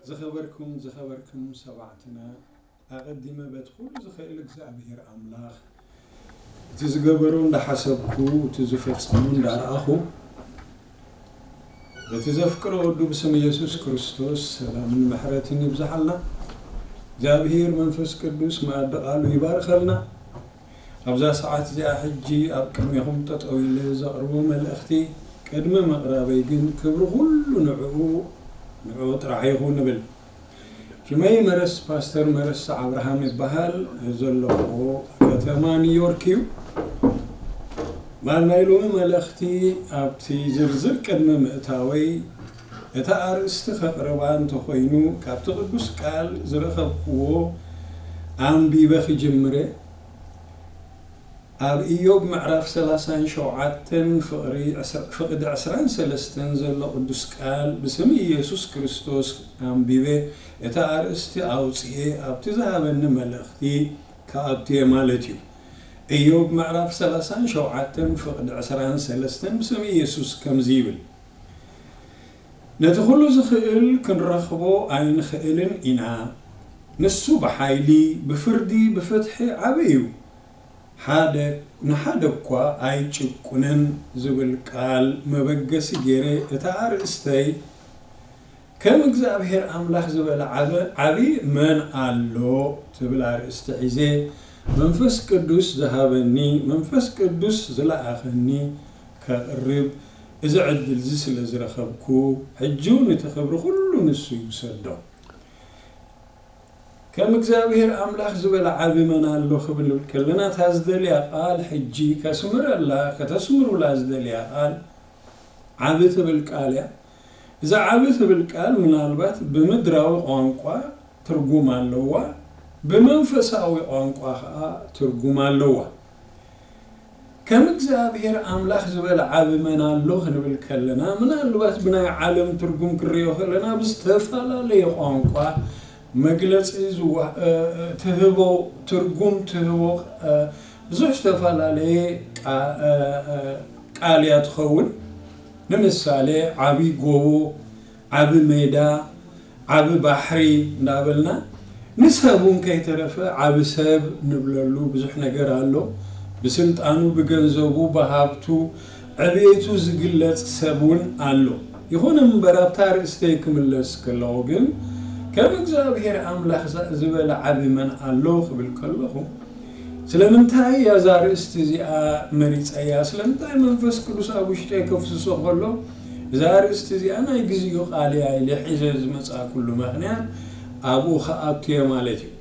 ዝኸበርኩም ዝኸበርኩም ሰማዕትና፣ ኣቐዲመ በቲ ኩሉ ዝኽእል እግዚኣብሔር ኣምላኽ እቲ ዝገበሮ እንዳሓሰብኩ፣ እቲ ዝፈጸሞ እንዳረኣኹ፣ በቲ ዘፍቅሮ ወዱ ብስም ኢየሱስ ክርስቶስ ሰላምን ምሕረትን ይብዝሓልና። እግዚኣብሔር መንፈስ ቅዱስ መኣዲ ቃሉ ይባርከልና። ኣብዛ ሰዓት እዚኣ ሕጂ ኣብ ቅድሜኹም ጠጠው ኢለ ዘቕርቦ መልእኽቲ፣ ቅድሚ ምቕራበይ ግን ክብሪ ኩሉ ንዕኡ፣ ንዕኡ ጥራሕ ይኹን ንብል። ሽመይ መረስ፣ ፓስተር መረስ ኣብርሃም ይበሃል። ዘለኹዎ ከተማ ኒውዮርክ እዩ። ማር ናይ ሎሚ መልእኽቲ ኣብቲ ዝርዝር ቅድሚ ምእታወይ፣ እታ ኣርእስቲ ከቕርባ እንተኾይኑ፣ ካብቲ ቅዱስ ቃል ዝረኸብክዎ ኣንቢበ ክጅምር እየ። ኣብ ኢዮብ ምዕራፍ ሰላሳን ሸውዓተን ፍቕሪ ዕስራ-፣ ፍቕዲ ዕስራን ሰለስተን ዘሎ ቅዱስ ቃል ብስም ኢየሱስ ክርስቶስ ኣንቢበ፣ እታ ኣርእስቲ ኣውጽኤ ኣብቲ ዝሃበኒ መልእኽቲ ክኣቱ እየ ማለት እዩ። ኢዮብ ምዕራፍ ሰላሳን ሸውዓተን ፍቕዲ ዕስራን ሰለስተን ብስም ኢየሱስ ከምዚ ይብል፣ ነቲ ኩሉ ዝኽእል ክንረኽቦ ኣይንኽእልን ኢና። ንሱ ብሓይሊ፣ ብፍርዲ፣ ብፍትሒ ዓቢ እዩ። ሓደ፣ ንሓደ እኳ ኣይጭቁንን ዝብል ቃል መበገሲ ገይረ እታ ኣርእስተይ ከም እግዚኣብሔር ኣምላኽ ዝበለ ዓበ-፣ ዓቢ መን ኣሎ ትብል ኣርእስቲ ሒዘ መንፈስ ቅዱስ ዝሃበኒ፣ መንፈስ ቅዱስ ዝለኣኸኒ ከቕርብ እዚ ዕድል እዚ ስለ ዝረኸብኩ፣ ሕጂ እውን እቲ ክብሪ ኩሉ ንሱ ይውሰዶ። ከም እግዚኣብሔር ኣምላኽ ዝበለ ዓቢ መን ኣሎ ክብል ከለና፣ እታ ዝደልያ ቃል ሕጂ ከስምረላ፣ ከተስምሩላ ዝደልያ ቃል ዓቢ ትብል ቃል እያ። እዛ ዓቢ ትብል ቃል ምናልባት ብምድራዊ ቋንቋ ትርጉም ኣለዋ፣ ብመንፈሳዊ ቋንቋ ኸኣ ትርጉም ኣለዋ። ከም እግዚኣብሔር ኣምላኽ ዝበለ ዓቢ መን ኣሎ ክንብል ከለና፣ ምናልባት ብናይ ዓለም ትርጉም ክንሪኦ ከለና፣ ብዝተፈላለየ ቋንቋ መግለጺ ዝዋ-፣ እ፣ እ፣ ትህቦ፣ ትርጉም ትህቦ፣ እ፣ ብዙሕ ዝተፈላለየ ቃ-፣ እ፣ እ፣ ቃል እያ ትኸውን። ንምሳሌ፣ ዓቢ ጎቦ፣ ዓቢ ሜዳ፣ ዓቢ ባሕሪ እንዳበልና፣ ንሰብ እውን ከይተረፈ ዓቢ ሰብ ንብለሉ ብዙሕ ነገር ኣሎ። ብስልጣኑ፣ ብገንዘቡ፣ ብሃብቱ፣ ዕብየቱ ዝግለጽ ሰብ እውን ኣሎ። ይኹን እምበር፣ ኣብታ ርእስተይ ክምለስ ከለኹ ግን፣ ከም እግዚኣብሔር ኣምላኽ ዛ-፣ ዝበለ ዓቢ መን ኣሎ ክብል ከለኹ፣ ስለምንታይ እያ እዛ ኣርእስቲ እዚኣ መሪጸያ? ስለምንታይ መንፈስ ቅዱስ ኣብ ውሽጠይ ከፍስሶ ከሎ፣ እዛ ኣርእስቲ እዚኣ ናይ ግዜኡ ቃል እያ ኢለ ሒዘ ዝመጻእኩሉ ምኽንያት ኣብኡ ክኣቱ እየ ማለት እዩ።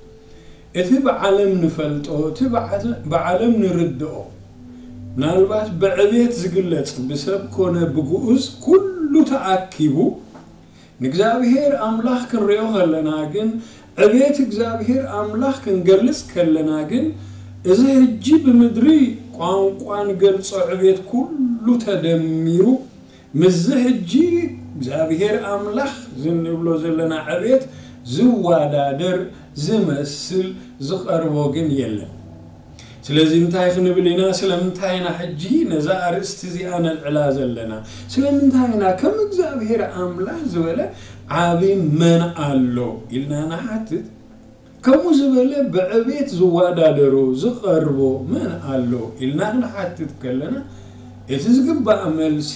እቲ ብዓለም ንፈልጦ፣ እቲ ብዓለ-፣ ብዓለም ንርድኦ፣ ምናልባት ብዕቤት ዝግለጽ፣ ብሰብ ኮነ ብግኡዝ ኩሉ ተኣኪቡ፣ ንእግዚኣብሔር ኣምላኽ ክንሪኦ ከለና ግን፣ ዕቤት እግዚኣብሔር ኣምላኽ ክንገልጽ ከለና ግን፣ እዚ ሕጂ ብምድሪ ቋንቋ ንገልጾ ዕቤት ኩሉ ተደሚሩ፣ ምስዚ ሕጂ እግዚኣብሔር ኣምላኽ ዝንብሎ ዘለና ዕቤት ዝወዳደር፣ ዝመስል፣ ዝቐርቦ ግን የለን። ስለዚ እንታይ ክንብል ኢና? ስለምንታይ ኢና ሕጂ ነዛ ኣርእስቲ እዚኣ ነልዕላ ዘለና? ስለምንታይ ኢና ከም እግዚኣብሔር ኣምላኽ ዝበለ ዓቢ መን ኣሎ ኢልና ንሓትት? ከምኡ ዝበለ ብዕቤት ዝወዳደሮ፣ ዝቐርቦ መን ኣሎ ኢልና ክንሓትት ከለና፣ እቲ ዝግባእ መልሲ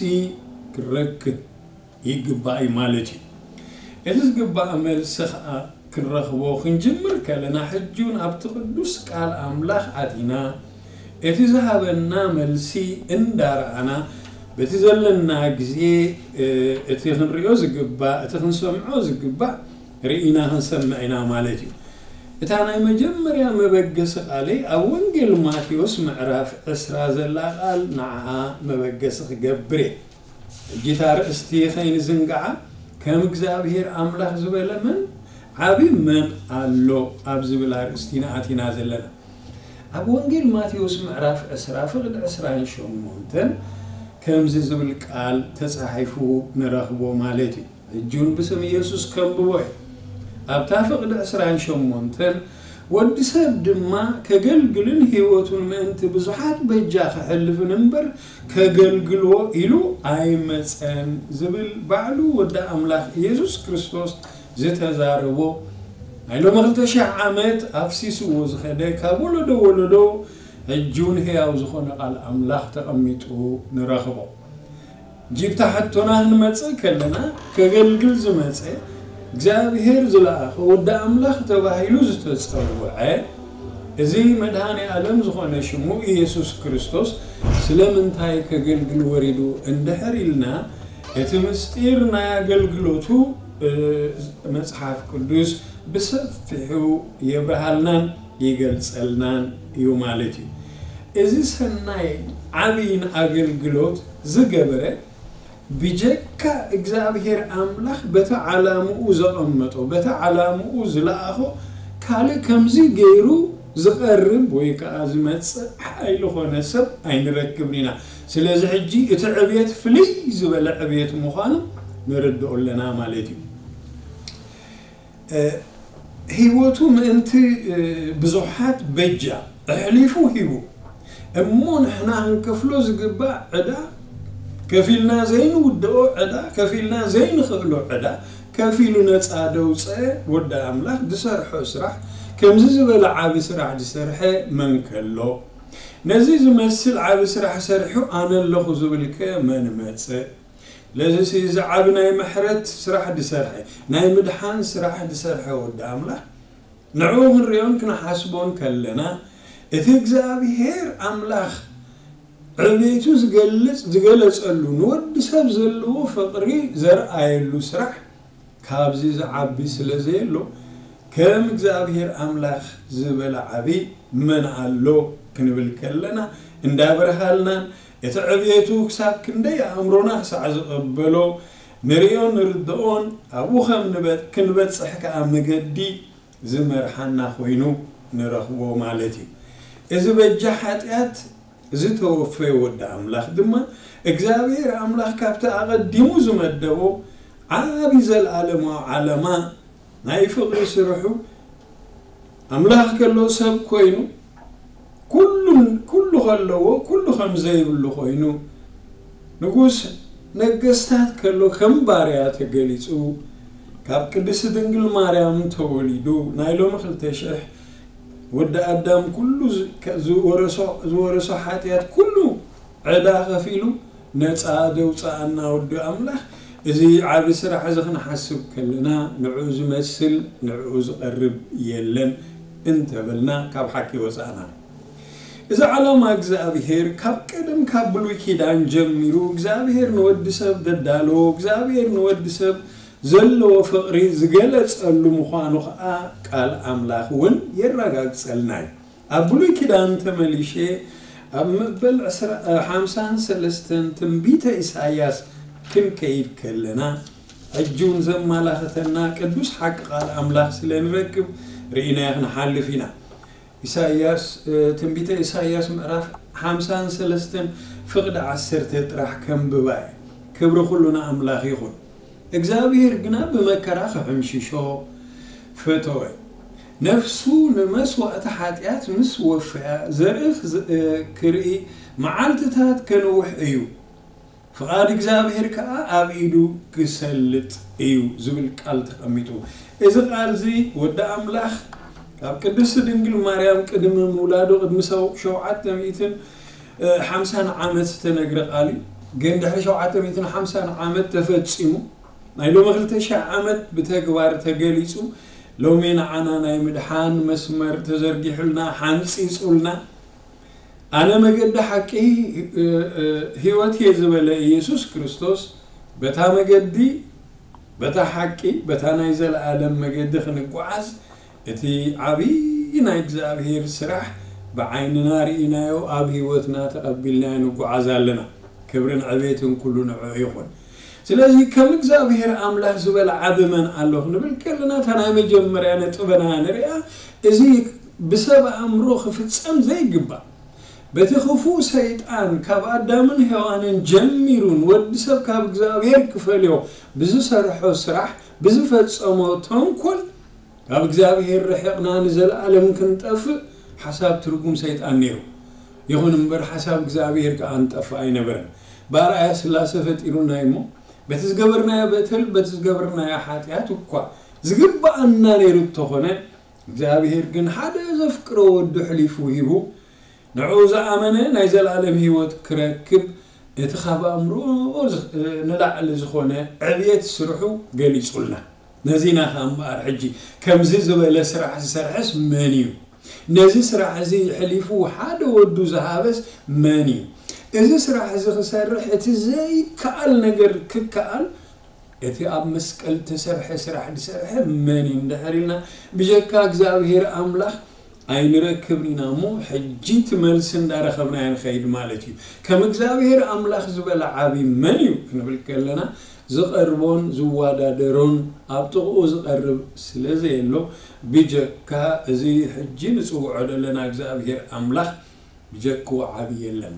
ክንረክብ ይግባእ እዩ ማለት እዩ። እቲ ዝግባእ መልሲ ኸኣ ክንረኽቦ ክንጅምር ከለና፣ ሕጂ እውን ኣብቲ ቅዱስ ቃል ኣምላኽ ኣቲና፣ እቲ ዝሃበና መልሲ እንዳረኣና፣ በቲ ዘለና ግዜ፣ እ፣ እቲ ክንሪኦ ዝግባእ፣ እቲ ክንሰምዖ ዝግባእ ርኢና ክንሰምዕ ኢና ማለት እዩ። እታ ናይ መጀመርያ መበገሲ ቃለይ ኣብ ወንጌል ማቴዎስ ምዕራፍ ዕስራ ዘላ ቃል ንዓኣ መበገሲ ክገብር እየ። ሕጂ እታ ኣርእስቲ ከይንዝንግዓ፣ ከም እግዚኣብሔር ኣምላኽ ዝበለ መን ዓቢ መን ኣሎ ኣብ ዝብል ኣርእስቲ ኢና ኣቲና ዘለና። ኣብ ወንጌል ማቴዎስ ምዕራፍ ዕስራ ፍቕዲ ዕስራን ሸሞንተን ከምዚ ዝብል ቃል ተጻሒፉ ንረኽቦ ማለት እዩ። ሕጂ እውን ብስም ኢየሱስ ከንብቦ እየ። ኣብታ ፍቕዲ ዕስራን ሸሞንተን፣ "ወዲ ሰብ ድማ ከገልግልን ህይወቱን ምእንቲ ብዙሓት በጃ ክሕልፍን እምበር፣ ከገልግሎ ኢሉ ኣይመጸን" ዝብል ባዕሉ ወዲ ኣምላኽ ኢየሱስ ክርስቶስ ዝተዛረቦ ናይ ሎሚ ክልተ ሽሕ ዓመት ኣፍሲስዎ ዝኸደ ካብ ወለዶ ወለዶ ሕጂ እውን ህያው ዝኾነ ቃል ኣምላኽ ተቐሚጡ ንረኽቦ። ጅብታ ሕቶና ክንመጽእ ከለና ከገልግል ዝመጸ እግዚኣብሔር ዝለኣኸ ወዲ ኣምላኽ ተባሂሉ ዝተጸውዐ እዚ መድኃኔ ዓለም ዝኾነ ሽሙ ኢየሱስ ክርስቶስ ስለምንታይ ከገልግል ወሪዱ እንድሕር ኢልና እቲ ምስጢር ናይ ኣገልግሎቱ መጽሓፍ ቅዱስ ብሰፊሑ የብርሃልናን ይገልጸልናን እዩ ማለት እዩ። እዚ ሰናይ ዓብይን ኣገልግሎት ዝገበረ ብጀካ እግዚኣብሔር ኣምላኽ በቲ ዓላምኡ ዘቐመጦ በቲ ዓላምኡ ዝለኣኾ ካልእ ከምዚ ገይሩ ዝቐርብ ወይ ከዓ ዝመጽእ ሓይሊ ኾነ ሰብ ኣይንረክብን ኢና። ስለዚ ሕጂ እቲ ዕብየት ፍልይ ዝበለ ዕብየት ምዃኑ ንርድኦ ኣለና ማለት እዩ። ህይወቱ ምእንቲ ብዙሓት በጃ ኣሕሊፉ ሂቡ እሞ ንሕና ክንከፍሎ ዝግባእ ዕዳ ከፊልና ዘይንውድኦ ዕዳ ከፊልና ዘይንኽእሎ ዕዳ ከፊሉ ነፃ ደውፀ ወዲ ኣምላኽ ዝሰርሖ ስራሕ ከምዚ ዝበለ ዓብ ስራሕ ዝሰርሐ መን ከሎ ነዚ ዝመስል ዓብ ስራሕ ሰሪሑ ኣነ ኣለኹ ዝብልከ መን መፀ ለዚሲ እዚ ዓቢ ናይ ምሕረት ስራሕ ዝሰርሐ ናይ ምድሓን ስራሕ ዝሰርሐ ወዲ ኣምላኽ ንዕኡ ክንሪኦን ክንሓስቦን ከለና እቲ እግዚኣብሔር ኣምላኽ ዕቤቱ ዝገልጽ ዝገለጸሉ ንወዲ ሰብ ዘለዎ ፍቕሪ ዘርኣየሉ ስራሕ ካብዚ ዝዓቢ ስለ ዘየሎ ከም እግዚኣብሔር ኣምላኽ ዝበለ ዓቢ መን ኣሎ ክንብል ከለና እንዳበርሃልናን እቲ ዕብየቱ ክሳብ ክንደይ ኣእምሮና ክሳዕ ዝቐበሎ ንርእዮን ንርድኦን ኣብኡ ከም ክንበጽሕ ከኣ መገዲ ዝመርሓና ኮይኑ ንረኽቦ ማለት እዩ። እዚ በጃ ሓጢኣት ዝተወፈየ ወዲ ኣምላኽ ድማ እግዚኣብሔር ኣምላኽ ካብቲ ኣቐዲሙ ዝመደቦ ዓቢ ዘለኣለማዊ ዓለማ ናይ ፍቕሪ ስርሑ ኣምላኽ ከሎ ሰብ ኮይኑ ኩሉ ከለዎ ኩሉ ከም ዘይብሉ ኮይኑ ንጉስ ነገስታት ከሎ ከም ባርያ ተገሊጹ ካብ ቅድስቲ ድንግል ማርያም ተወሊዱ ናይ ሎሚ ክልተ ሽሕ ወዲ ኣዳም ኩሉ ዝወረሶ ሓጢኣት ኩሉ ዕዳ ከፊሉ ነፃ ደውፃኣና ወዲ ኣምላኽ እዚ ዓቢ ስራሕ እዚ ክንሓስብ ከለና ንዕኡ ዝመስል ንዕኡ ዝቐርብ የለን እንተበልና ካብ ሓቂ ወፃእና እዚ ዓላማ እግዚኣብሔር ካብ ቀደም ካብ ብሉይ ኪዳን ጀሚሩ እግዚኣብሔር ንወዲ ሰብ ደዳለዎ እግዚኣብሔር ንወዲ ሰብ ዘለዎ ፍቕሪ ዝገለጸሉ ምዃኑ ኸኣ ቃል ኣምላኽ እውን የረጋግጸልና እዩ። ኣብ ብሉይ ኪዳን ተመሊሸ ኣብ መበል ሓምሳን ሰለስተን ትንቢተ ኢሳያስ ክንከይድ ከለና ሕጂ እውን ዘማላኸተና ቅዱስ ሓቂ ቃል ኣምላኽ ስለ ንረክብ ርኢናዮ ክንሓልፍ ኢና። ኢሳያስ ትንቢተ ኢሳያስ ምዕራፍ ሓምሳን ሰለስተን ፍቕዲ ዓሰርተ ጥራሕ ከንብባ እየ። ክብሪ ኩሉ ንኣምላኽ ይኹን። እግዚኣብሔር ግና ብመከራ ክሕምሽሾ ፈተወ። ነፍሱ ንመስዋእቲ ሓጢኣት ምስ ወፈያ ዘርኢ ክርኢ መዓልትታት ከንውሕ እዩ። ፍቓድ እግዚኣብሔር ከኣ ኣብ ኢዱ ክሰልጥ እዩ ዝብል ቃል ተቐሚጡ። እዚ ቃል እዚ ወዲ ኣምላኽ ካብ ቅድስቲ ድንግል ማርያም ቅድሚ ምውላዱ ቅድሚ ሸውዓተ ሚእትን ሓምሳን ዓመት ዝተነግረ ቃል እዩ። ግን ድሕሪ ሸውዓተ ሚእትን ሓምሳን ዓመት ተፈጺሙ ናይ ሎሚ ክልተ ሽሕ ዓመት ብተግባር ተገሊጹ ሎሚ ንዓና ናይ ምድሓን መስመር ተዘርጊሑልና ሓንጺጹልና ኣነ መገዲ ሓቂ ህይወት እየ ዝበለ ኢየሱስ ክርስቶስ በታ መገዲ በታ ሓቂ በታ ናይ ዘለኣለም መገዲ ክንጓዓዝ እቲ ዓብዪ ናይ እግዚኣብሔር ስራሕ ብዓይንና ርኢናዮ ኣብ ህይወትና ተቐቢልናዮ ንጓዓዝ ኣለና። ክብርን ዕቤትን ኩሉ ንዕኡ ይኹን። ስለዚ ከም እግዚኣብሔር ኣምላኽ ዝበለ ዓቢ መን ኣሎ ክንብል ከለና እታ ናይ መጀመርያ ነጥበና ንሪኣ። እዚ ብሰብ ኣእምሮ ክፍጸም ዘይግባእ በቲ ክፉእ ሰይጣን ካብ ኣዳምን ሄዋንን ጀሚሩ ንወዲ ሰብ ካብ እግዚኣብሔር ክፈልዮ ብዝሰርሖ ስራሕ ብዝፈጸሞ ተንኮል ካብ እግዚኣብሔር ርሒቕና ንዘለኣለም ክንጠፍእ ሓሳብ ትርጉም ሰይጣን ነይሩ። ይኹን እምበር ሓሳብ እግዚኣብሔር ከኣ ንጠፍእ ኣይነበረን። ብኣርኣያ ስላሴ ፈጢሩና እሞ በቲ ዝገበርናዮ በተል በቲ ዝገበርናዮ ሓጢኣት እኳ ዝግብኣና ነይሩ እንተኾነ፣ እግዚኣብሔር ግን ሓደ ዘፍቅሮ ወዱ ኣሕሊፉ ሂቡ፣ ንዕኡ ዝኣመነ ናይ ዘለኣለም ህይወት ክረክብ፣ እቲ ካብ ኣእምሮ ንላዕሊ ዝኾነ ዕብየት ስርሑ ገሊጹልና። ነዚ ኢና ከኣ እምበኣር ሕጂ ከምዚ ዝበለ ስራሕ ዝሰርሐስ መን እዩ? ነዚ ስራሕ እዚ ኣሕሊፉ ሓደ ወዱ ዝሃበስ መን እዩ? እዚ ስራሕ እዚ ክሰርሕ እቲ ዘይከኣል ነገር ክከኣል፣ እቲ ኣብ መስቀል እተሰርሐ ስራሕ ዝሰርሐ መን እዩ እንድሕር ኢልና፣ ብጀካ እግዚኣብሔር ኣምላኽ ኣይንረክብን ኢና እሞ፣ ሕጂ እቲ መልሲ እንዳረኸብናዮ ንኸይድ ማለት እዩ። ከም እግዚኣብሔር ኣምላኽ ዝበለ ዓቢ መን እዩ ክንብል ከለና፣ ዝቐርቦን ዝወዳደሮን ኣብ ጥቕኡ ዝቐርብ ስለ ዘየሎ፣ ብጀካ እዚ ሕጂ ንጽውዖ ዘለና እግዚኣብሔር ኣምላኽ ብጀክኡ ዓቢ የለን።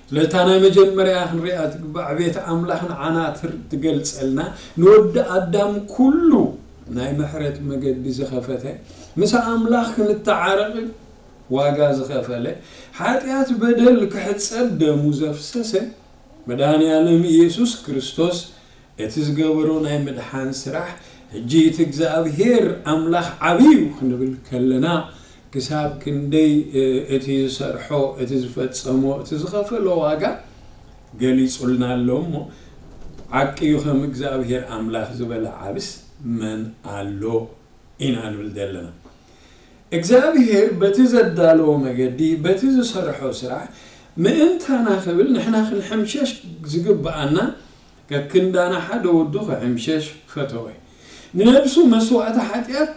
ስለታ ናይ መጀመርያ ክንሪኣ ትግባእ ዕቤት ኣምላኽ ንዓና ትር-፣ ትገልጸልና፣ ንወዲ ኣዳም ኩሉ ናይ ምሕረት መገዲ ዝኸፈተ፣ ምስ ኣምላኽ ክንተዓረቕ ዋጋ ዝኸፈለ፣ ሓጢኣት በደል ክሕጸብ ደሙ ዘፍሰሰ፣ መድኃኔ ዓለም ኢየሱስ ክርስቶስ እቲ ዝገበሮ ናይ ምድሓን ስራሕ፣ ሕጂ እቲ እግዚኣብሔር ኣምላኽ ዓቢ እዩ ክንብል ከለና፣ ክሳብ ክንደይ፣ እ፣ እቲ ዝሰርሖ፣ እቲ ዝፈጸሞ፣ እቲ ዝኸፈሎ ዋጋ ገሊጹልና ኣሎ እሞ፣ ዓቂ እዩ ከም እግዚኣብሔር ኣምላኽ ዝበለ ዓብስ መን ኣሎ ኢና ንብል ዘለና። እግዚኣብሔር በቲ ዘዳለዎ መገዲ፣ በቲ ዝሰርሖ ስራሕ ምእንታና ክብል ንሕና ክንሕምሸሽ ዝግብኣና፣ ከክንዳና ሓደ ወዱ ክሕምሸሽ ፈተወ። ንነብሱ መስዋእቲ ሓጢኣት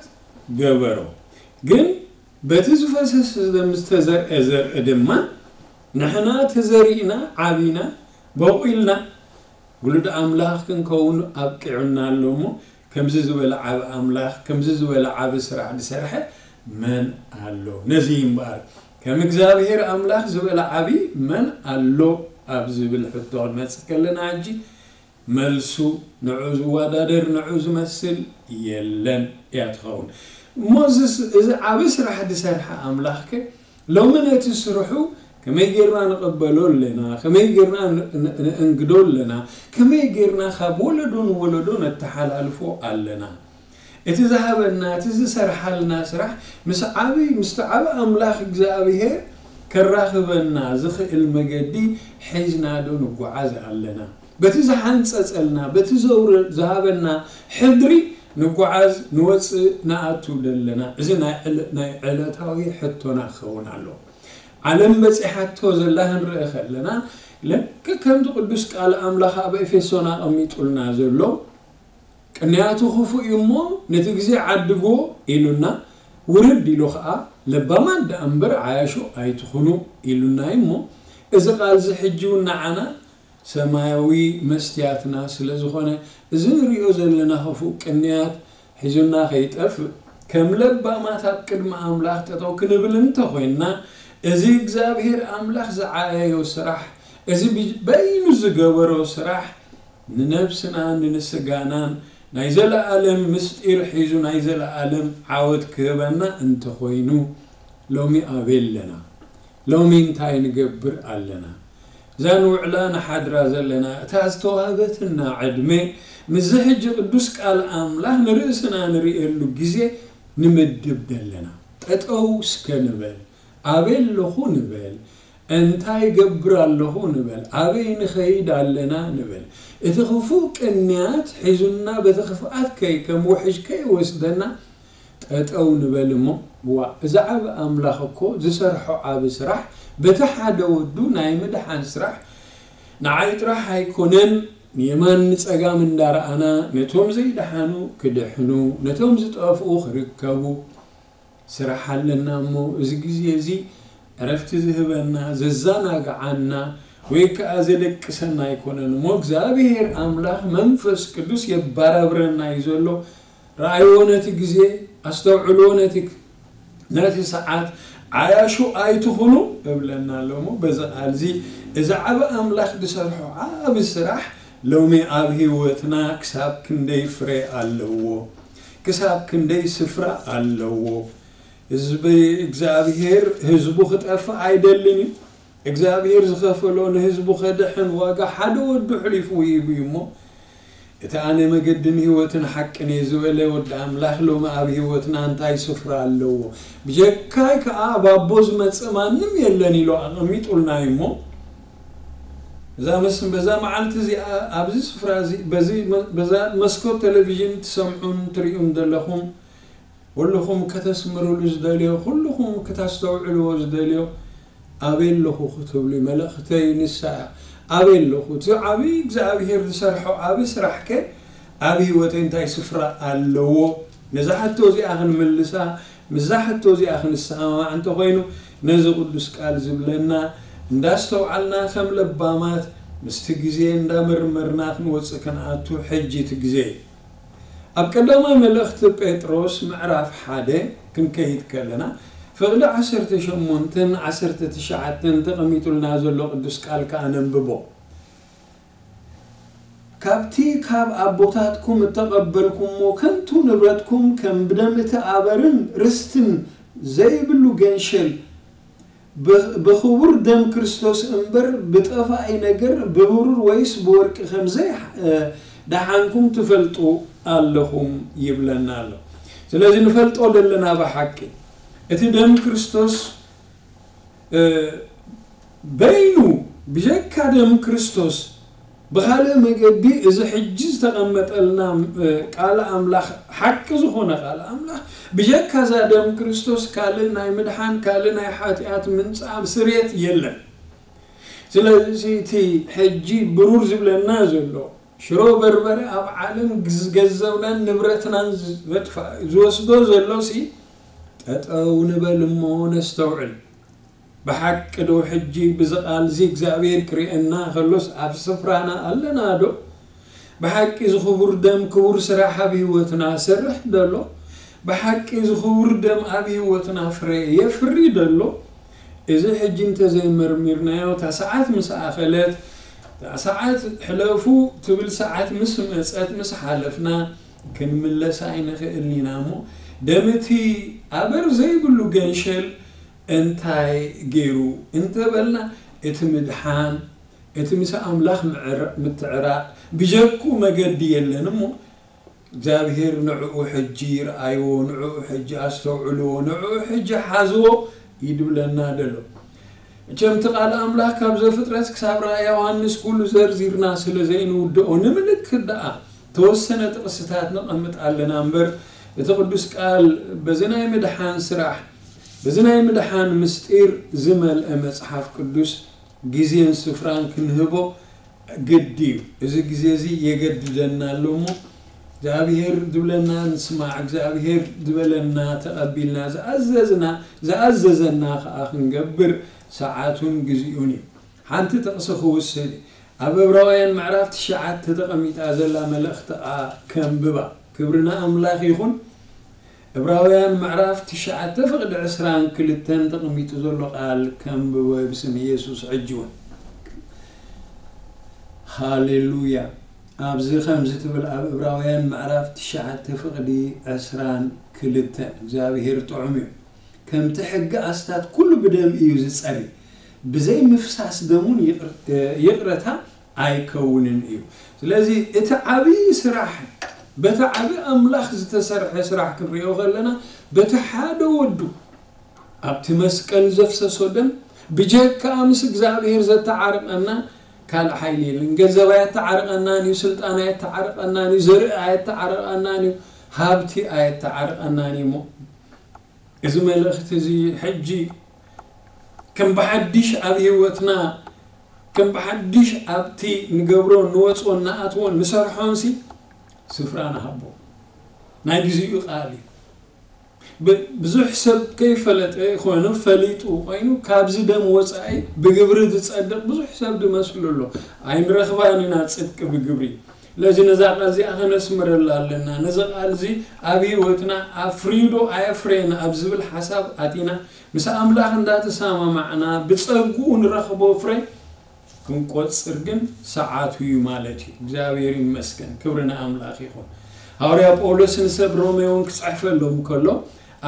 ገበሮ። ግን በቲ ዝፈሰሰ ደም ዝተዘርአ ዘርኢ ድማ ንሕና ተዘሪእና፣ ዓቢና፣ በቑልና፣ ውሉድ ኣምላኽ ክንከውን ኣብቂዑና ኣሎ እሞ፣ ከምዚ ዝበለ ዓቢ ኣምላኽ፣ ከምዚ ዝበለ ዓቢ ስራሕ ዝሰርሐ መን ኣሎ? ነዚ እምበኣር፣ ከም እግዚኣብሔር ኣምላኽ ዝበለ ዓቢ መን ኣሎ? ኣብ ዝብል ሕቶ ክንመጽእ ከለና፣ ሕጂ መልሱ ንዑ ዝወዳደር፣ ንዑ ዝመስል የለን እያ ትኸውን። እሞ እዚስ-፣ እዚ ዓቢ ስራሕ ዝሰርሐ ኣምላኽከ ሎሚ ነቲ ስርሑ ከመይ ጌርና ንቐበሎ ኣለና? ከመይ ጌርና ን-፣ ን-፣ ንእንግዶ ኣለና? ከመይ ጌርና ካብ ወለዶ ንወለዶ ነተሓላልፎ ኣለና? እቲ ዝሃበና፣ እቲ ዝሰርሓልና ስራሕ ምስ ዓቢ፣ ምስቲ ዓቢ ኣምላኽ እግዚኣብሔር ከራኽበና ዝኽእል መገዲ ሒዝና ዶ ንጓዓዝ ኣለና? በቲ ዝሓንጸጸልና፣ በቲ ዘውረ-፣ ዝሃበና ሕድሪ ንጓዓዝ፣ ንወጽእ፣ ንኣቱ ደለና? እዚ ናይ ዕለ-፣ ናይ ዕለታዊ ሕቶና ክኸውን ኣለዎ። ዓለም በጺሓቶ ዘላ ክንርኢ ከለና፣ ልክዕ ከምቲ ቅዱስ ቃል ኣምላኽ ኣብ ኤፌሶን ኣቐሚጡልና ዘሎ፣ ቅንያቱ ክፉእ እዩ እሞ፣ ነቲ ግዜ ዓድግዎ ኢሉና፣ ውርድ ኢሉ ኸኣ፣ ለባማት ደኣ እምበር ዓያሹ ኣይትኹኑ ኢሉና እዩ እሞ፣ እዚ ቃል እዚ ሕጂ እውን ንዓና ሰማያዊ መስትያትና ስለ ዝኾነ፣ እዚ ንሪኦ ዘለና ክፉእ ቅንያት ሒዙና ከይጠፍእ፣ ከም ለባማት ኣብ ቅድሚ ኣምላኽ ጠጠው ክንብል እንተኾይንና፣ እዚ እግዚኣብሔር ኣምላኽ ዝዓየዮ ስራሕ፣ እዚ ብ-፣ በይኑ ዝገበሮ ስራሕ፣ ንነብስና ንስጋናን ናይ ዘለኣለም ምስጢር ሒዙ ናይ ዘለኣለም ዓወት ክህበና እንተኾይኑ፣ ሎሚ ኣበይ ኣለና? ሎሚ እንታይ ንገብር ኣለና? እዛ ንውዕላ ንሓድራ ዘለና እታ ዝተዋህበትና ዕድመ፣ ምስዚ ሕጂ ቅዱስ ቃል ኣምላኽ ንርእስና ንርእየሉ ግዜ ንምድብ ደለና። ጠጠው እስከ ንበል። ኣበይ ኣለኹ ንበል። እንታይ ገብር ኣለኹ ንበል። ኣበይ ንኸይድ ኣለና ንበል። እቲ ክፉእ ቅንያት ሒዙና በቲ ክፍኣት ከይ-፣ ከም ውሕጅ ከይወስደና ጠጠው ንበል እሞ፣ ዋ፣ እዚ ዓቢ ኣምላኽ እኮ ዝሰርሖ ዓቢ ስራሕ፣ በቲ ሓደ ወዱ ናይ ምድሓን ስራሕ ንዓይ ጥራሕ ኣይኮነን፣ ንየማን ንጸጋም እንዳረኣና፣ ነቶም ዘይደሓኑ ክድሕኑ፣ ነቶም ዝጠፍኡ ክርከቡ፣ ስራሕ ኣለና እሞ፣ እዚ ግዜ እዚ ዕረፍቲ ዝህበና፣ ዘዘናግዓና፣ ወይ ከኣ ዘደቅሰና ኣይኮነን እሞ፣ እግዚኣብሔር ኣምላኽ መንፈስ ቅዱስ የባራብረና እዩ ዘሎ። ረኣይዎ ነቲ ግዜ፣ ኣስተውዕልዎ ነቲ፣ ነቲ ሰዓት፣ ዓያሹ ኣይትኹኑ እብለና ኣሎ እሞ፣ በዚ ቃል እዚ፣ እዚ ዓቢ ኣምላኽ ዝሰርሖ ዓቢ ስራሕ፣ ሎሚ ኣብ ህይወትና ክሳብ ክንደይ ፍረ ኣለዎ? ክሳብ ክንደይ ስፍራ ኣለዎ? ህዝቢ እግዚኣብሔር ህዝቡ ክጠፍእ ኣይደልን እዩ። እግዚኣብሔር ዝኸፈሎ ንህዝቡ ከድሕን ዋጋ ሓደ ወዱ ኣሕሊፉ ሂቡ እዩ እሞ፣ እቲ ኣነ መገድን ህይወትን ሓቅን እየ ዝበለ ወዲ ኣምላኽ ሎሚ ኣብ ህይወትና እንታይ ስፍራ ኣለዎ? ብጀካይ ከኣ ኣብ ኣቦ ዝመጽእ ማንም የለን ኢሉ ኣቐሚጡልና እዩ እሞ፣ እዛ መስ-፣ በዛ መዓልቲ እዚኣ ኣብዚ ስፍራ እዚ በዚ መ-፣ በዛ መስኮት ቴሌቪዥን ትሰምዑን ትርእዩን ዘለኹም ኩልኹም ከተስምርሉ ዝደልዮ፣ ኩልኹም ክተስተውዕልዎ ዝደልዮ፣ ኣበይ ኣለኹ ክትብሉ እዩ። መልእኽተይ ንሳ እያ። ኣበይ ኣለኹ? እቲ ዓብዪ እግዚኣብሔር ዝሰርሖ ዓብዪ ስራሕ ከ ኣብ ህይወተይ እንታይ ስፍራ ኣለዎ? ነዛ ሕቶ እዚኣ ክንምልሳ፣ ምስዛ ሕቶ እዚኣ ክንሰማማዕ እንተኾይኑ፣ ነዚ ቅዱስ ቃል ዝብለና እንዳስተውዓልና ከም ለባማት ምስቲ ግዜ እንዳመርመርና ክንወጽእ ክንኣቱ ሕጂ እቲ ግዜ እዩ። ኣብ ቀዳማይ መልእኽቲ ጴጥሮስ ምዕራፍ ሓደ ክንከይድ ከለና፣ ፍቕዲ ዓሰርተ ሸሞንተን ዓሰርተ ትሽዓተን ተቐሚጡልና ዘሎ ቅዱስ ቃል ከኣ ነንብቦ። ካብቲ ካብ ኣቦታትኩም እተቐበልኩሞ ከንቱ ንብረትኩም ከም ብደም እቲ ኣበርን ርስትን ዘይብሉ ገንሸል ብ-፣ ብኽቡር ደም ክርስቶስ እምበር ብጠፋኢ ነገር ብብሩር ወይስ ብወርቂ ከም ዘይ-፣ እ፣ ደሓንኩም ትፈልጡ ኣለኹም ይብለና ኣሎ። ስለዚ ንፈልጦ ዘለና ብሓቂ እቲ ደም ክርስቶስ፣ እ፣ በይኑ ብጀካ ደም ክርስቶስ ብኻልእ መገዲ እዚ ሕጂ ዝተቐመጠልና፣ እ፣ ቃል ኣምላኽ፣ ሓቂ ዝኾነ ቃል ኣምላኽ፣ ብጀካ እዛ ደም ክርስቶስ ካልእ ናይ ምድሓን፣ ካልእ ናይ ሓጢኣት ምንጻብ ስርየት የለን። ስለዚ እቲ ሕጂ ብሩር ዝብለና ዘሎ ሽሮ በርበረ ኣብ ዓለም ግዝ-፣ ገንዘብናን ንብረትናን ዝወጥፋ-፣ ዝወስዶ ዘሎሲ ጠጠው ንበል እሞ ነስተውዕል። ብሓቂ ዶ ሕጂ ብዚ ቃል እዚ እግዚኣብሔር ክርእየና ከሎስ ኣብ ስፍራና ኣለና ዶ? ብሓቂ እዚ ክቡር ደም ክቡር ስራሕ ኣብ ህይወትና ሰርሕ ደሎ? ብሓቂ እዚ ክቡር ደም ኣብ ህይወትና ፍረ የፍሪ ደሎ? እዚ ሕጂ እንተዘይመርሚርናዮ፣ እታ ሰዓት ምስ ኣኸለት፣ እታ ሰዓት ሕለፉ ትብል ሰዓት ምስ መጸት፣ ምስ ሓለፍና፣ ክንምለስ ኣይንኽእልን ኢና እሞ፣ ደም እቲ ኣበር ዘይብሉ ገንሸል እንታይ ገይሩ እንተበልና፣ እቲ ምድሓን፣ እቲ ምስ ኣምላኽ ምዕር-፣ ምትዕራቕ፣ ብጀክኡ መገዲ የለን እሞ፣ እግዚኣብሔር ንዕኡ ሕጂ ይርኣይዎ፣ ንዕኡ ሕጂ ኣስተውዕልዎ፣ ንዕኡ ሕጂ ሓዝዎ ይድብለና ደሎ። እቸም እቲ ቃል ኣምላኽ ካብ ዘፍጥረት ክሳብ ራእይ ዮሃንስ ኩሉ ዘርዚርና ስለ ዘይንውድኦ፣ ንምልክት ደኣ ተወሰነ ጥቕስታት ነቐምጥ ኣለና እምበር፣ እቲ ቅዱስ ቃል በዚ ናይ ምድሓን ስራሕ፣ በዚ ናይ ምድሓን ምስጢር ዝመልአ መጽሓፍ ቅዱስ ግዜን ስፍራን ክንህቦ ግዲ እዩ። እዚ ግዜ እዚ የገድደና ኣሎ እሞ፣ እግዚኣብሔር ዝብለና ንስማዕ፣ እግዚኣብሔር ዝበለና ተቐቢልና፣ ዝኣዘዝና፣ ዝኣዘዘና ከኣ ክንገብር ሰዓቱን ግዜኡን እዩ። ሓንቲ ጥቕሲ ክውስድ፣ ኣብ ዕብራውያን ምዕራፍ ትሽዓተ ተቐሚጣ ዘላ መልእኽቲ ከኣ ከንብባ። ክብሪ ንኣምላኽ ይኹን። ዕብራውያን ምዕራፍ ትሽዓተ ፍቕዲ ዕስራን ክልተን ተቐሚጡ ዘሎ ቃል ከንብቦ ብስም ኢየሱስ ሕጂ እውን። ሃሌሉያ። ኣብዚ ከምዚ ትብል ኣብ ዕብራውያን ምዕራፍ ትሽዓተ ፍቕዲ ዕስራን ክልተን፣ እግዚኣብሔር ጥዑም እዩ። ከምቲ ሕጊ ኣስታት ኩሉ ብደም እዩ ዝጸሪ፣ ብዘይ ምፍሳስ ደሙን ይቕር-፣ ይቕረታ ኣይከውንን እዩ። ስለዚ እቲ ዓብዪ ስራሕ፣ በቲ ዓብዪ ኣምላኽ ዝተሰርሐ ስራሕ ክንሪኦ ከለና፣ በቲ ሓደ ወዱ ኣብቲ መስቀል ዘፍሰሶ ደም ብጀካ ምስ እግዚኣብሔር ዘተዓርቀና ካልእ ሓይሊ የለን። ገንዘብ ኣየተዓርቀናን እዩ፣ ስልጣን ኣየተዓርቀናን እዩ፣ ዘርኢ ኣየተዓርቀናን እዩ፣ ሃብቲ ኣየተዓርቀናን እዩ እሞ፣ እዚ መልእኽቲ እዚ ሕጂ ከም ብሓድሽ ኣብ ህይወትና፣ ከም ብሓድሽ ኣብቲ ንገብሮ፣ ንወፅኦን ንኣትዎን ንሰርሖንሲ ስፍራ ንሃቦ። ናይ ግዜኡ ቃል እዩ። ብ-፣ ብዙሕ ሰብ ከይፈለጠ ኮይኑ፣ ፈሊጡ ኮይኑ፣ ካብዚ ደም ወፃኢ ብግብሪ ዝፀድቕ ብዙሕ ሰብ ዝመስሉ ኣሎ። ኣይንረኽባን ኢና ፅድቂ ብግብሪ። ስለዚ ነዛ ቃል እዚኣ ከነስምረላ ኣለና። ነዚ ቃል እዚ ኣብ ህይወትና ኣፍርዩ ዶ ኣየፍረየን ኣብ ዝብል ሓሳብ ኣቲና፣ ምስ ኣምላኽ እንዳተሰማማዕና ብጸግኡ ንረኽቦ ፍረ ክንቆጽር ግን ሰዓቱ እዩ ማለት እዩ። እግዚኣብሔር ይመስገን፣ ክብሪ ንኣምላኽ ይኹን። ሃዋርያ ጳውሎስ ንሰብ ሮሜ እውን ክጽሕፈሎም ከሎ፣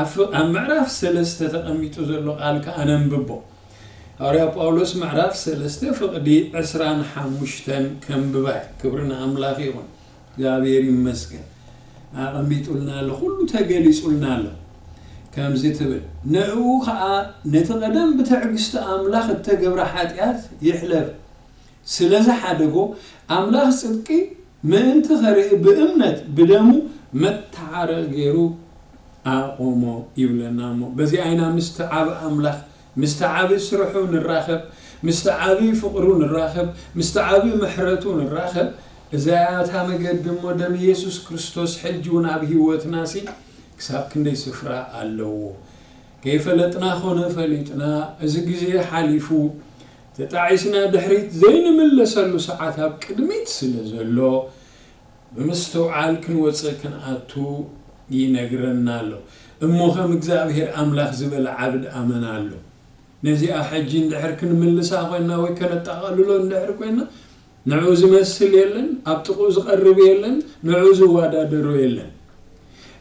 ኣብ ፍ-፣ ኣብ ምዕራፍ ሰለስተ ተቐሚጡ ዘሎ ቃል ከኣ ነንብቦ። ሃዋርያ ጳውሎስ ምዕራፍ ሰለስተ ፍቕዲ ዕስራን ሓሙሽተን ከንብባ እየ። ክብሪ ንኣምላኽ ይኹን። እግዚኣብሔር ይመስገን። ኣቐሚጡልና ኣሎ፣ ኩሉ ተገሊጹልና ኣሎ። ከምዚ ትብል፣ ንዕኡ ኸኣ ነቲ ቀደም ብትዕግስቲ ኣምላኽ እተገብረ ሓጢኣት ይሕለፍ ስለ ዝሓደጎ፣ ኣምላኽ ጽድቂ ምእንቲ ኸርኢ ብእምነት ብደሙ መተዓረቒ ገይሩ ኣቖሞ ይብለና። እሞ በዚኣ ኢና ምስቲ ዓቢ ኣምላኽ፣ ምስቲ ዓቢ ስርሑ ንራኸብ፣ ምስቲ ዓቢ ፍቕሩ ንራኸብ፣ ምስቲ ዓቢ ምሕረቱ ንራኸብ። እዛ እያ እታ መገዲ። እሞ ደም ኢየሱስ ክርስቶስ ሕጂ እውን ኣብ ህይወትናሲ ክሳብ ክንደይ ስፍራ ኣለዎ። ከይፈለጥና ኾነ ፈሊጥና፣ እዚ ግዜ ሓሊፉ፣ ተጣዒስና ድሕሪት ዘይንምለሰሉ ሰዓት ኣብ ቅድሚት ስለ ዘሎ፣ ብምስትውዓል ክንወጽእ ክንኣቱ ይነግረና ኣሎ። እሞ ከም እግዚኣብሔር ኣምላኽ ዝበለ ዓብድ ኣመና ኣሎ። ነዚኣ ሕጂ እንድሕር ክንምልሳ ኮይና ወይ ከነጠቓልሎ እንድሕር ኮይና፣ ንዕኡ ዝመስል የለን፣ ኣብ ጥቕኡ ዝቐርብ የለን፣ ንዕኡ ዝወዳደሮ የለን።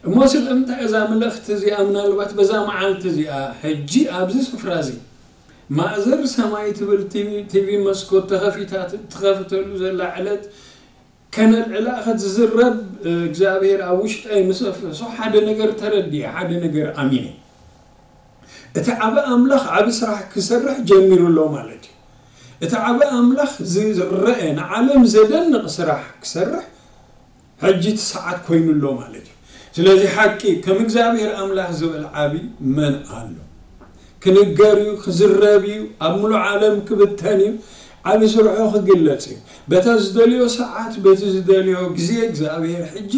እሞ ስለምንታይ እዛ መልእኽቲ እዚኣ ምናልባት በዛ መዓልቲ እዚኣ ሕጂ ኣብዚ ስፍራ እዚ ማእዘር ሰማይ ትብል ቲቪ፣ ቲቪ መስኮት ተኸፊታ ት-፣ ትኸፍተሉ ዘላ ዕለት ከነልዕላ ክትዝረብ፣ እ፣ እግዚኣብሔር ኣብ ውሽጠይ ምስ ኣፍሰሶ ሓደ ነገር ተረዲኤ፣ ሓደ ነገር ኣሚነ። እቲ ዓቢ ኣምላኽ ዓቢ ስራሕ ክሰርሕ ጀሚሩ ኣሎ ማለት እዩ። እቲ ዓቢ ኣምላኽ ዝረአ ንዓለም ዘደንቕ ስራሕ ክሰርሕ ሕጂ እቲ ሰዓት ኮይኑ ኣሎ ማለት እዩ። ስለዚ ሓቂ ከም እግዚኣብሔር ኣምላኽ ዝበል ዓቢ መን ኣሎ? ክንገር እዩ፣ ክዝረብ እዩ፣ ኣብ ምሉእ ዓለም ክብተን እዩ፣ ዓቢ ስርሑ ክግለጽ እዩ። በታ ዝደልዮ ሰዓት፣ በቲ ዝደልዮ ግዜ እግዚኣብሔር ሕጂ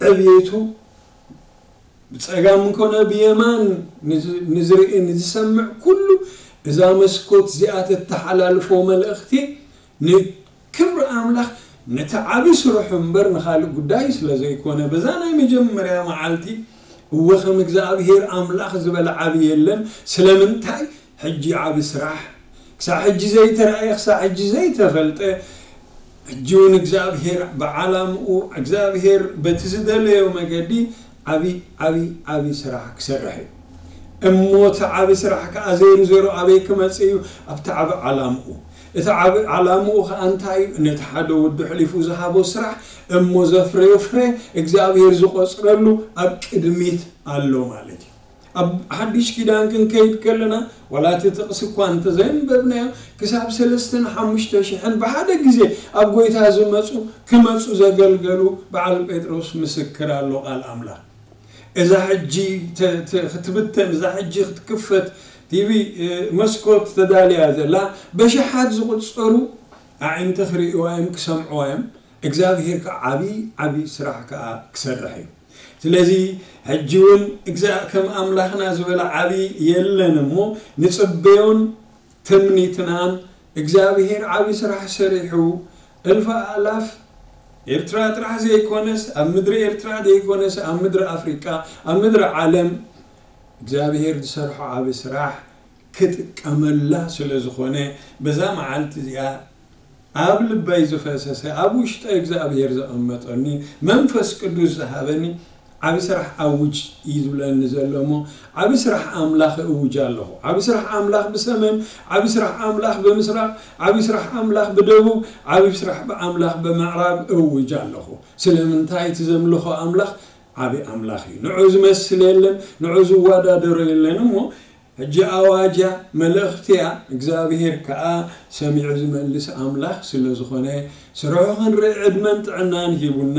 ዕብየቱ ብጸጋም እንኮነ ብየማን ንዝ-፣ ንዝርኢ ንዝሰምዕ ኩሉ እዛ መስኮት እዚኣ ተተሓላልፎ መልእኽቲ ንክብሪ ኣምላኽ ነቲ ዓቢ ስርሑ እምበር ንኻልእ ጉዳይ ስለ ዘይኮነ፣ በዛ ናይ መጀመርያ መዓልቲ እወ ከም እግዚኣብሔር ኣምላኽ ዝበለ ዓቢ የለን። ስለምንታይ? ሕጂ ዓቢ ስራሕ ክሳብ ሕጂ ዘይተራእየ፣ ክሳብ ሕጂ ዘይተፈልጠ፣ ሕጂ እውን እግዚኣብሔር ብዓላምኡ፣ እግዚኣብሔር በቲ ዝደለዮ መገዲ ዓቢ፣ ዓቢ፣ ዓቢ ስራሕ ክሰርሕ እዩ። እሞ እቲ ዓቢ ስራሕ ከኣ ዜሩ ዜሮ ኣበይ ክመጽእ እዩ? ኣብቲ ዓቢ ዓላምኡ። እቲ ዓቢ ዓላምኡ ከኣ እንታይ እዩ? ነቲ ሓደ ወዱ ሕሊፉ ዝሃቦ ስራሕ እሞ ዘፍረዮ ፍረ እግዚኣብሔር ዝቖጽረሉ ኣብ ቅድሚት ኣሎ ማለት እዩ። ኣብ ሓድሽ ኪዳን ክንከይድ ከለና፣ ዋላ እቲ ጥቕሲ እኳ እንተዘይንበብናዮ፣ ክሳብ ሰለስተን ሓሙሽተ ሽሕን ብሓደ ግዜ ኣብ ጎይታ ዝመጹ፣ ክመጹ ዘገልገሉ በዓል ጴጥሮስ ምስክር ኣሎ ቃል ኣምላኽ። እዛ ሕጂ ተ-፣ ተ-፣ ክትብተን፣ እዛ ሕጂ ክትክፈት ቲቪ፣ እ፣ መስኮት ተዳልያ ዘላ፣ በሽሓት ዝቑጸሩ ኣዒንቲ ክርእይዋ እዮም፣ ክሰምዕዋ እዮም። እግዚኣብሔር ከኣ ዓቢ፣ ዓቢ ስራሕ ከኣ ክሰርሕ እዩ። ስለዚ ሕጂ እውን እግዛ-፣ ከም ኣምላኽና ዝበለ ዓቢ የለን እሞ፣ ንጽበዮን ትምኒትናን እግዚኣብሔር ዓቢ ስራሕ ሰሪሑ፣ እልፊ ኣእላፍ ኤርትራ ጥራሕ ዘይኮነስ፣ ኣብ ምድሪ ኤርትራ ዘይኮነስ፣ ኣብ ምድሪ ኣፍሪቃ፣ ኣብ ምድሪ ዓለም እግዚኣብሔር ዝሰርሖ ዓቢ ስራሕ ክጥቀመላ ስለ ዝኾነ፣ በዛ መዓልቲ እዚኣ ኣብ ልበይ ዝፈሰሰ፣ ኣብ ውሽጠ እግዚኣብሔር ዘቐመጠኒ፣ መንፈስ ቅዱስ ዝሃበኒ፣ ዓቢ ስራሕ ኣውጅ እዩ ዝብለኒ ዘሎ እሞ፣ ዓቢ ስራሕ ኣምላኽ እውጅ ኣለኹ። ዓቢ ስራሕ ኣምላኽ ብሰሜን፣ ዓቢ ስራሕ ኣምላኽ ብምስራቕ፣ ዓቢ ስራሕ ኣምላኽ ብደቡብ፣ ዓቢ ስራሕ ኣምላኽ ብምዕራብ እውጅ ኣለኹ። ስለምንታይ? እቲ ዘምልኾ ኣምላኽ ዓቢ ኣምላኽ እዩ። ንዑ ዝመስል የለን፣ ንዑ ዝወዳደሮ የለን እሞ፣ ሕጂ ኣዋጅ እያ፣ መልእኽቲ እያ። እግዚኣብሔር ከኣ ሰሚዑ ዝመልስ ኣምላኽ ስለ ዝኾነ፣ ስርሑ ክንርኢ ዕድመን ጥዕናን ሂቡና፣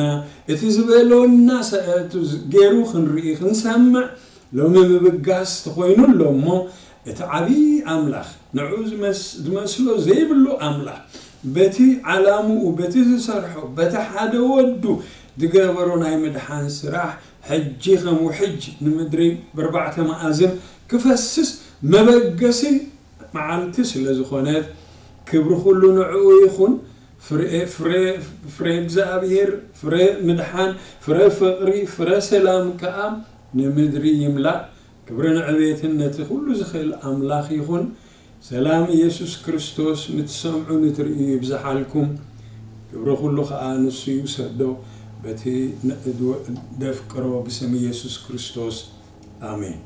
እቲ ዝበለና ሰ-፣ እቲ ዝ-፣ ገይሩ ክንርኢ፣ ክንሰምዕ፣ ሎሚ ምብጋስ ተኾይኑ ኣሎ እሞ፣ እቲ ዓቢ ኣምላኽ፣ ንዑ ዝመስ-፣ ዝመስሎ ዘይብሉ ኣምላኽ፣ በቲ ዓላምኡ፣ በቲ ዝሰርሖ፣ በቲ ሓደ ወዱ ዝገበሮ ናይ ምድሓን ስራሕ፣ ሕጂ ከም ውሕጅ ንምድሪ ብርባዕተ መኣዝን ክፈስስ መበገሲ መዓልቲ ስለ ዝኾነት፣ ክብሪ ኩሉ ንዕኡ ይኹን። ፍረ፣ ፍረ፣ ፍረ እግዚኣብሔር፣ ፍረ ምድሓን፣ ፍረ ፍቕሪ፣ ፍረ ሰላም ከኣ ንምድሪ ይምላእ። ክብርን ዕቤትን ነቲ ኩሉ ዝኽእል ኣምላኽ ይኹን። ሰላም ኢየሱስ ክርስቶስ ንትሰምዑ ንትርእዩ ይብዝሓልኩም። ክብሪ ኩሉ ኸኣ ንሱ ይውሰዶ። በቲ ን-፣ ደፍቅሮ ብስም ኢየሱስ ክርስቶስ። ኣሜን።